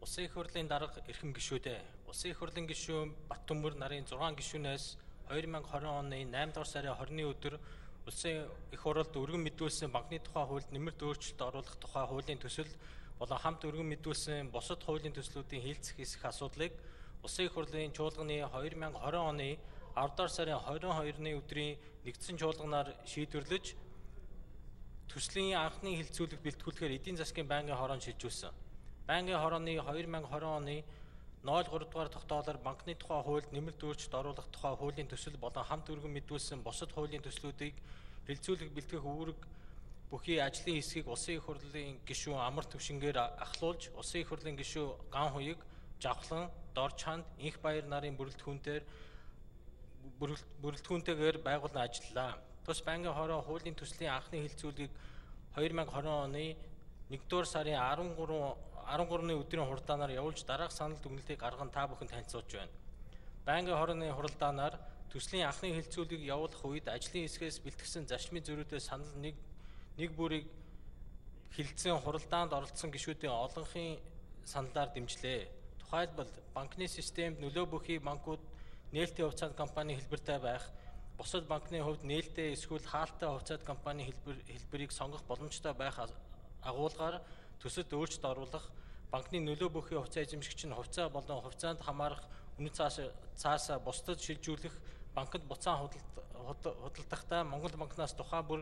Улсын их хурлын дарга эрхэм гишүүдээ. Улсын их хурлын гишүүн Баттөмөр нарын 6 гишүүнээс 2020 оны 8 дугаар сарын 20-ны өдөр Улсын их хурлд өргөн мэдүүлсэн банкны тухай хуульд нэмэлт өөрчлөлт оруулах тухай хуулийн төсөл болон хамт өргөн мэдүүлсэн бусад хуулийн төслүүдийн хилцэх хэсэх асуудлыг Улсын их хурлын чуулганы 2020 оны 10 дугаар сарын 22-ны өдрийн нэгдсэн чуулганаар шийдвэрлэж төслийн анхны хилцүүлэг бэлтгүүлэхээр эдийн засгийн байнгын хороонд шилжүүлсэн. Байнгын хорооны 2020 оны 03 дугаар тогтоолоор банкны тухай хуульд нэмэлт өөрчлөлт оруулах тухай хуулийн төсөл болон хамт өргөн мэдүүлсэн бусад хуулийн төслүүдийг хилцүүлэх бэлтгэх үүрэг бүхий ажлын хэсгийг Улсын их хурлын гишүүн Амар Төвшингээр ахлуулж, Улсын их хурлын гишүү Ган Хуйг, Жавхлан, Дорчханд, Инх Баяр нарын бүрэлдэхүүнтэйгээр байгуулан ажиллалаа. Тус байнгын хороо хуулийн төслийн анхны хилцүүлгийг 2020 оны 1-р сарын 13-ны өдрийн хуралдаанаар явуулж дараах санал дүгнэлтийг гарган та бүхэнд танилцуулж байна. Байнгын хорооны хуралдаанаар төслийн анхны хилцүүлгийг явуулах үед ажлын хэсгээс бэлтгэсэн зарчмын зөрүүтэй санал нэг бүрийг хилцэн хуралдаанд оролцсон гишүүдийн олонхын саналаар дэмжлээ. Тухайлбал банкны системд нөлөө бүхий банкуд нээлттэй хувьцаат компани хэлбэртэй байх, бусад банкны хувьд нээлттэй эсвэл хаалттай хувьцаат компани хэлбэрийг сонгох боломжтой байх агуулгаар төсөлд өөрчлөлт оруулах, банкны нөлөө бүхий хувьцаа эзэмшигч нь хувьцаа болон хувьцаанд хамаарах үнэт цаасаа бусдад шилжүүлэх, банкнд буцаан худалдахдаа Монгол банкнаас тухайн бүр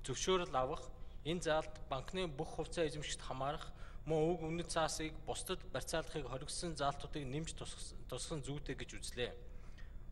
зөвшөөрөл авах, энэ заалд банкны бүх хувьцаа эзэмшигчд хамаарах, мөн уг үнэт цаасыг бусдад барьцаалахыг хоригдсон заалтуудыг нэмж тусгах зүйтэй гэж үзлээ.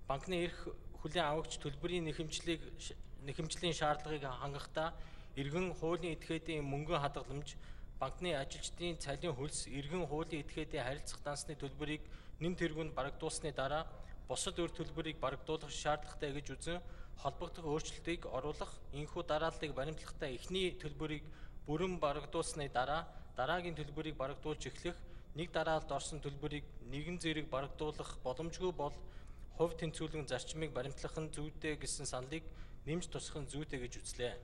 Банкны эрх хүлээн авагч төлбөрийн нэхэмжлийн шаардлагыг хангахдаа иргэн хуулийн этгээдийн мөнгөн хадгаламж, банкны ажилчдын цалин хөлс, иргэн хуулийн этгээдийн харилцах дансны төлбөрийг нэн тэргүүнд барагдуулсны дараа бусад өр төлбөрийг барагдуулах шаардлагатай гэж үзэн холбогдох өөрчлөлтийг оруулах, энэхүү дарааллыг баримтлахдаа эхний төлбөрийг бүрэн барагдуулсны дараа дараагийн төлбөрийг барагдуулж эхлэх, нэг дараалалд орсон төлбөрийг нэгэн зэрэг барагдуулах боломжгүй бол хувь тэнцвүүлэн зарчмыг баримтлах нь зүйтэй гэсэн саналыг нэмж тусгах нь зүйтэй гэж үзлээ.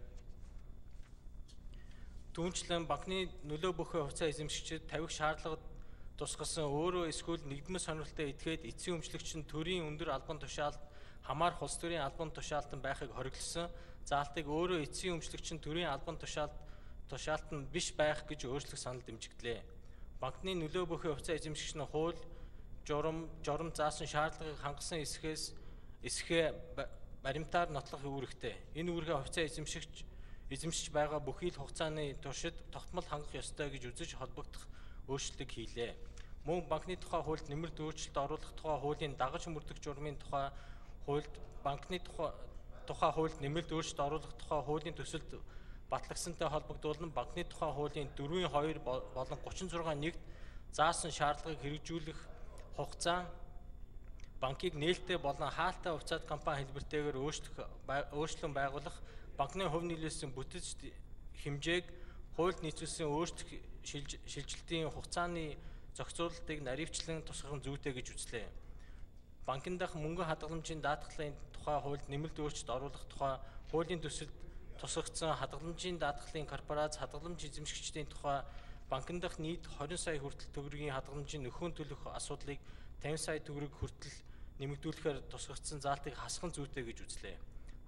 Түүнчлэн банкны нөлөө бүхий хувьцаа эзэмшигчид тавих шаардлагад тусгасан өөрөө эсвэл нэгдмэл сонирхолтой этгээд эцсийн өмчлөгч нь төрийн өндөр албан тушаалд хамаарх улс төрийн албан тушаалтан байхыг хориглосон заалтыг өөрөө эцсийн өмчлөгч нь төрийн албан тушаалтан биш байх гэж өөрчлөх санал дэмжигдлээ. Банкны нөлөө бүхий хувьцаа эзэмшигч нь хууль, журам заасан шаардлагыг хангасан эсэхээ баримтаар нотлох үүрэгтэй. Энэ үүргээ хувьцаа эзэмшиж байгаа бүхий л хугацааны туршид тогтмол хангах ёстой гэж үзэж холбогдох өөрчлөлтийг хийлээ. Мөн банкны тухай хуульд нэмэлт өөрчлөлт оруулах тухай хуулийн дагаж мөрдөх журмын тухай хуульд банкны тухай хуульд нэмэлт өөрчлөлт оруулах тухай хуулийн төсөлд батлагдсантай холбогдуулан банкны тухай хуулийн 4.2 болон 36.1-д заасан шаардлагыг хэрэгжүүлэх хугацаа банкыг нээлттэй болон хаалттай хувьцаат компани хэлбэртэйгээр өөрчлөн байгуулах, банкны хувь нөлөөсөн бүтэц хэмжээг хуульд нийцүүлсэн өөрчлөх шилжилтийн хугацааны зохицуулалтыг наривчлан тусгах нь зүйтэй гэж үзлээ. Банкны дах мөнгөн хадгаламжийн даатгалын тухай хуульд нэмэлт өөрчлөлт оруулах тухай хуулийн төсөлд тусгагдсан хадгаламжийн даатгалын корпорац хадгаламж эзэмшигчдийн тухай банкны дах нийт 20 сая хүртэл төгрөгийн хадгаламжийн нөхөн төлөх асуудлыг 50 сая төгрөг хүртэл нэмэгдүүлэхээр тусгагдсан заалтыг хасах нь зүйтэй гэж үзлээ.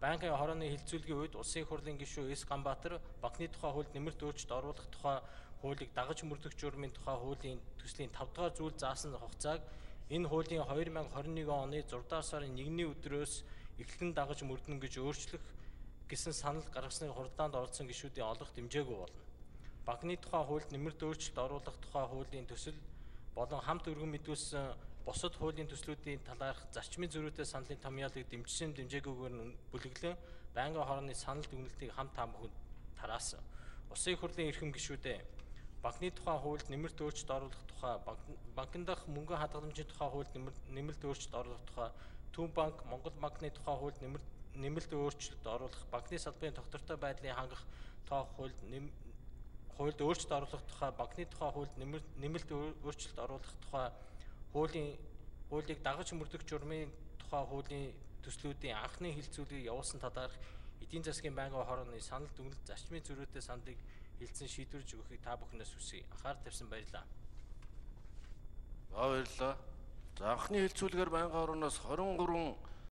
Байнгын хорооны хилцүүлгийн үед Улсын их хурлын гишүү С. Ганбаатар банкны тухай хуульд нэмэлт өөрчлөлт оруулах тухай хуулийг дагаж мөрдөх журмын тухай хуулийн төслийн 5 дугаар зүйл заасан хугацааг энэ хуулийн 2021 оны 6 дугаар сарын 1-ний өдрөөс эхлэн дагаж мөрдөн гэж өөрчлөх гэсэн санал гаргасныг хуралдаанд оролцсон гишүүдийн олох дэмжээгүй болно. Банкны тухай хуульд нэмэлт өөрчлөлт оруулах тухай хуулийн төсөл болон хамт өргөн мэдүүлсэн бусад хуулийн төслүүдийн талаарх зарчмын зөрүүтэй саналын томьёолыг дэмжсэн дэмжээгүйгээр бүлэглэн байнгын хорооны санал дүгнэлтийг хамт таамагт тараасан. Улсын их хурлын эрхэм гишүүдээ банкны тухай хуульд нэмэлт өөрчлөлт оруулах тухай, банкны дах мөнгөн хадгаламжийн тухай хуульд нэмэлт өөрчлөлт оруулах тухай, Төв банк, Монгол банкны тухай хуульд нэмэлт өөрчлөлт оруулах, банкны салбарын тогтвортой байдлыг хангах тухай хуульд өөрчлөлт оруулах тухай, банкны тухай хуульд нэмэлт өөрчлөлт оруулах тухай хуулийг дагаж мөрдөх журмын тухай хуулийн төслүүдийн анхны хилцүүлгийг явуулсан талаарх эдийн засгийн байнгын хорооны санал дүгнэлт зарчмын зөрүүтэй саналыг хилцэн шийдвэрлэж өгөхийг та бүхнээс хүсье. Анхаарал тавьсан баярлалаа. Баярлалаа. За анхны хэлцүүлгээр байнгын орноос 23